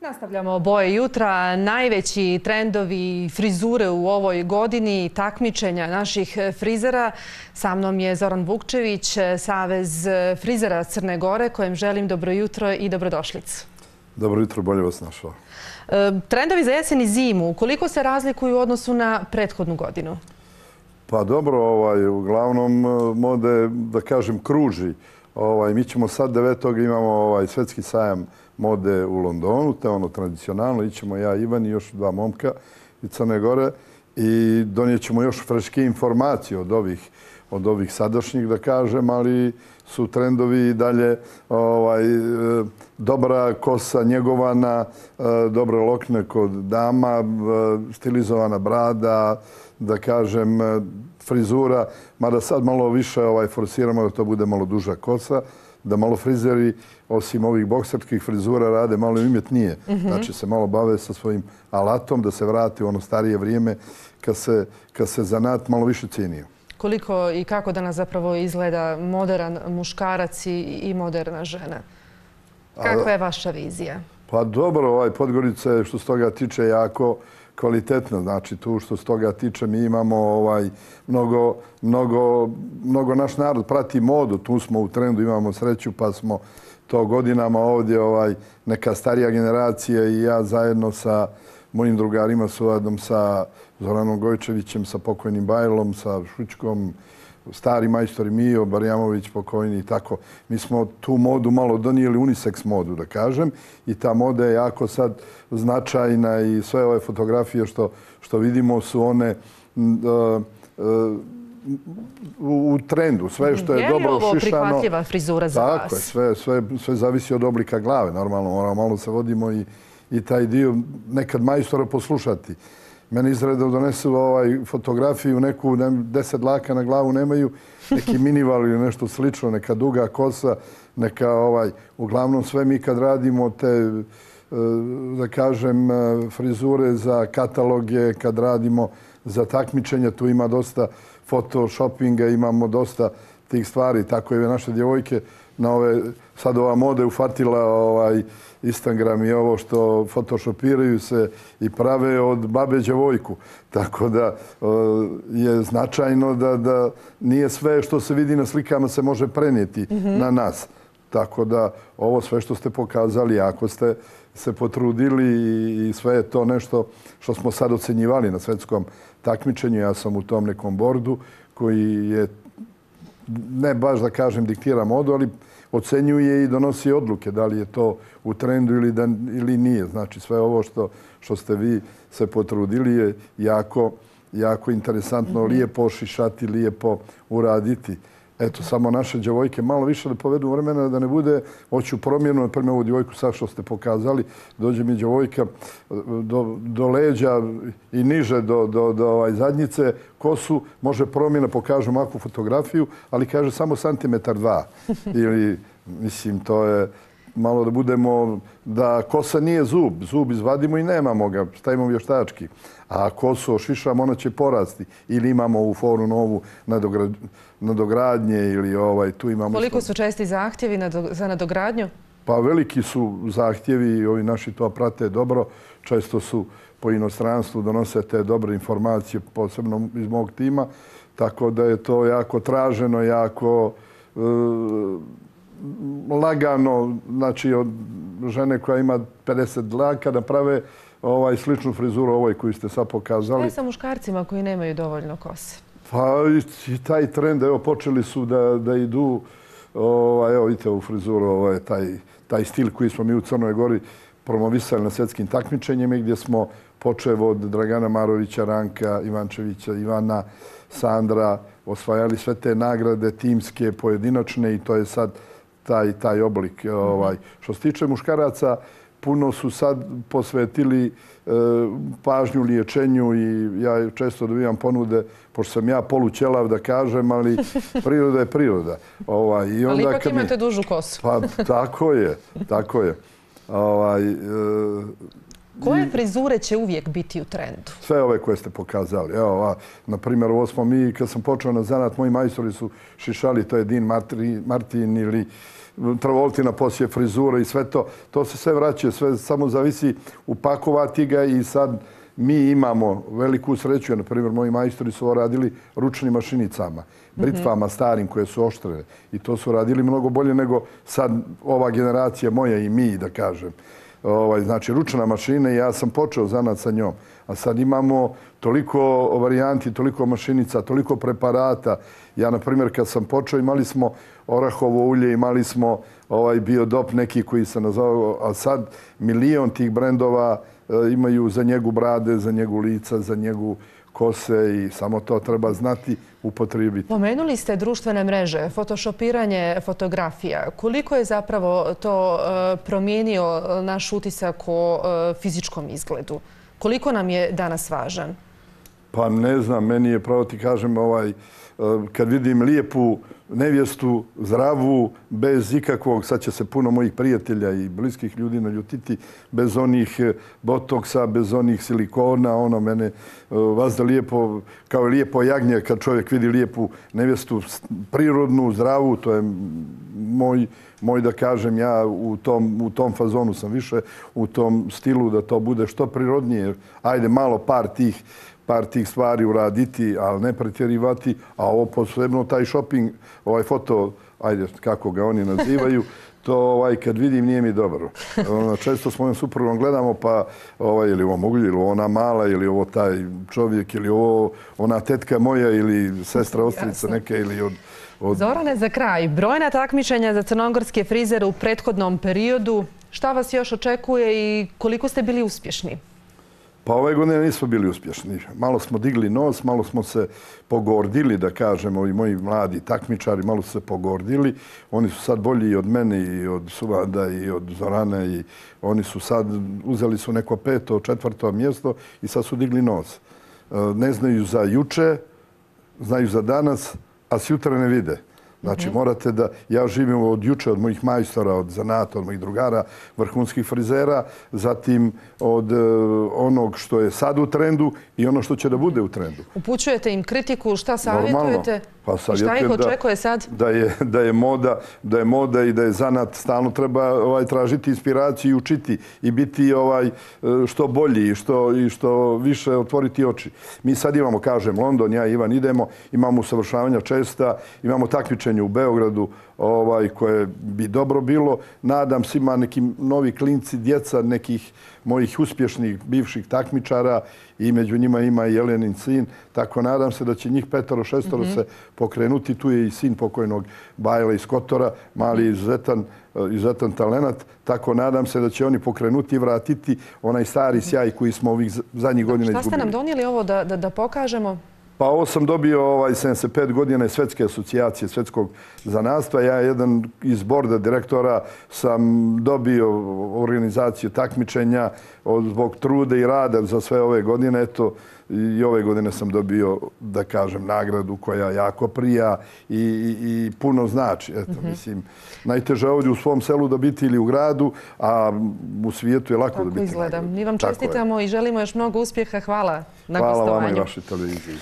Nastavljamo boje jutra. Najveći trendovi frizure u ovoj godini, takmičenja naših frizera. Sa mnom je Zoran Vukčević, Savez frizera Crne Gore, kojem želim dobro jutro i dobrodošlicu. Dobro jutro, bolje vas našao. Trendovi za jesen i zimu, koliko se razlikuju u odnosu na prethodnu godinu? Pa dobro, uglavnom mode, da kažem, kruži. Mi ćemo sad 9. imamo svetski sajam mode u Londonu, to je ono tradicionalno. Ićemo ja, Ivan i još dva momka iz Crne Gore i donijet ćemo još freške informacije od ovih sadašnjih, da kažem, ali su trendovi i dalje dobra kosa njegovana, dobre lokne kod dama, stilizovana brada, da kažem, frizura, mada sad malo više forsiramo da to bude malo duža kosa, da malo frizeri, osim ovih bokserskih frizura, rade malo umjetnije. Znači se malo bave sa svojim alatom, da se vrati u ono starije vrijeme kad se zanat malo više cijenio. Koliko i kako danas zapravo izgleda modern muškarac i moderna žena? Kakva je vaša vizija? Pa dobro, Podgorica je što se toga tiče jako kvalitetna. Znači tu što se toga tiče mi imamo mnogo naš narod prati modu. Tu smo u trendu, imamo sreću pa smo to godinama ovdje neka starija generacija i ja zajedno sa mojim drugarima, suradom sa Zoranom Gojčevićem, sa pokojnim Bajlom, sa Šućkom, stari majstor Mijo, Barjamović pokojni i tako. Mi smo tu modu malo donijeli, unisex modu, da kažem, i ta moda je jako sad značajna i sve ove fotografije što vidimo su one u trendu. Sve što je dobro ošišano. Je li ovo prihvatljiva frizura za vas? Tako je, sve zavisi od oblika glave. Normalno, moramo malo se vodimo i taj dio nekad majstora poslušati. Meni izreda donesu fotografiju, neku 10 dlaka na glavu nemaju, neki minival ili nešto slično, neka duga kosa, neka uglavnom sve mi kad radimo te, da kažem, frizure za kataloge, kad radimo za takmičenja, tu ima dosta photoshoppinga, imamo dosta tih stvari, tako je naše djevojke na sad ova moda ufatila Instagram i ovo što photoshopiraju se i prave od babe djevojku. Tako da je značajno da nije sve što se vidi na slikama se može prenijeti na nas. Tako da ovo sve što ste pokazali, ako ste se potrudili i sve je to nešto što smo sad ocenjivali na svetskom takmičenju. Ja sam u tom nekom bordu koji je, ne baš da kažem diktira modu, ali ocenjuje i donosi odluke da li je to u trendu ili nije. Znači sve ovo što ste vi se potrudili je jako interesantno, lijepo ošišati, lijepo uraditi. Eto, samo naše djevojke malo više da povedu vremena, da ne bude, hoću promjenu, na primjer ovu djevojku sad što ste pokazali, dođe mi djevojka do leđa i niže do zadnjice, kosu, može promjena, pokažu makvu fotografiju, ali kaže samo centimetar 2. Ili, mislim, to je malo da budemo, da kosa nije zub, zub izvadimo i nemamo ga, stavimo vještački. A kosu ošišamo, ona će porasti. Ili imamo ovu foru novu nadogradnje ili tu imamo... Koliko su česti zahtjevi za nadogradnju? Pa veliki su zahtjevi i ovi naši to prate dobro. Često su po inostranstvu donose te dobre informacije, posebno iz mog tima. Tako da je to jako traženo, jako lagano. Znači od žene koja ima 50 dlaka da prave sličnu frizuru ovoj koju ste sad pokazali. Šta je sa muškarcima koji nemaju dovoljno kose? Pa i taj trend, evo, počeli su da idu, evo vidite ovu frizuru, taj stil koji smo mi u Crnoj Gori promovisali na svjetskim takmičenjima gdje smo počev od Dragana Marovića, Ranka Ivančevića, Ivana, Sandra, osvajali sve te nagrade timske, pojedinačne i to je sad taj oblik. Što se tiče muškaraca, puno su sad posvetili pažnju liječenju i ja često dobijam ponude, pošto sam ja polućelav da kažem, ali priroda je priroda. Ali ipak imate dužu kosu. Pa tako je. Koje frizure će uvijek biti u trendu? Sve ove koje ste pokazali. Evo, na primjer, ovo smo mi, kad sam počeo na zanat, moji majstori su šišali, to je Dean Martin ili Travoltina poslije frizura i sve to. To se sve vraća, sve samo zavisi upakovati ga i sad mi imamo veliku sreću. Na primjer, moji majstori su ovo radili ručnim mašinicama, britvama starim koje su oštre. I to su radili mnogo bolje nego sad ova generacija moja i mi, da kažem. Znači, ručna mašina i ja sam počeo zanat sa njom. A sad imamo toliko varijanti, toliko mašinica, toliko preparata. Ja, na primjer, kad sam počeo, imali smo orahovo ulje, imali smo biodop neki koji se nazvao, a sad milion tih brendova imaju za njegu brade, za njegu lica, za njegu kose i samo to treba znati upotrijebiti. Pomenuli ste društvene mreže, fotošopiranje fotografija. Koliko je zapravo to promijenio naš utisak o fizičkom izgledu? Koliko nam je danas važan? Pa ne znam, meni je, pravo ti kažem, kad vidim lijepu nevjestu, zdravu, bez ikakvog, sad će se puno mojih prijatelja i bliskih ljudi naljutiti, bez onih botoksa, bez onih silikona, mene vazda lijepo, kao lijepo jagnje kad čovjek vidi lijepu nevjestu, prirodnu, zdravu, to je moj da kažem, ja u tom fazonu sam više, u tom stilu da to bude što prirodnije. Ajde, malo par tih stvari uraditi, ali ne pretjerivati, a ovo posebno taj shopping, foto, ajde, kako ga oni nazivaju, to kad vidim nije mi dobro. Često s mojom suprugom gledamo pa ili ovo mogu, ili ona mala, ili ovo taj čovjek, ili ovo ona tetka moja, ili sestra ostrica neke, ili od... Zorane, za kraj, brojna takmičenja za crnogorske frizere u prethodnom periodu. Šta vas još očekuje i koliko ste bili uspješni? Pa ove godine nismo bili uspješni. Malo smo digli nos, malo smo se pogordili, da kažemo, ovi moji mladi takmičari, malo su se pogordili. Oni su sad bolji i od mene, i od Suvada, i od Zorane. I oni su sad, uzeli su neko 5., 4. mjesto i sad su digli nos. Ne znaju za juče, znaju za danas, a sutra ne vide. Znači, morate da... Ja živim od juče, od mojih majstora, od zanata, od mojih drugara, vrhunskih frizera, zatim od onog što je sad u trendu i ono što će da bude u trendu. Upućujete im kritiku, šta savjetujete? Pa šta ih očekuje sad? Da je moda i da je zanat, stalno treba tražiti inspiraciju i učiti i biti što bolji i što više otvoriti oči. Mi sad imamo, kažem, London, ja i Ivan idemo, imamo usavršavanja česta, imamo takmičenje u Beogradu koje bi dobro bilo. Nadam se ima neki novi klinci, djeca nekih mojih uspješnih bivših takmičara i među njima ima i Jelenin sin. Tako nadam se da će njih 5, 6 se pokrenuti. Tu je i sin pokojnog Bajla iz Kotora, mali izuzetan talenat. Tako nadam se da će oni pokrenuti i vratiti onaj stari sjaj koji smo ovih zadnjih godina izgubili. Šta ste nam donijeli ovo da pokažemo? Pa ovo sam dobio 75 godina Svjetske asocijacije svjetskog zanatstva. Ja jedan iz borda direktora sam dobio organizaciju takmičenja zbog truda i rada za sve ove godine. Eto, i ove godine sam dobio, da kažem, nagradu koja jako prija i puno znači. Eto, mislim, najteže ovdje u svom selu dobiti ili u gradu, a u svijetu je lako dobiti nagradu. Mi vam čestitamo i želimo još mnogo uspjeha. Hvala na gostovanju. Hvala vama i vašoj televiziji.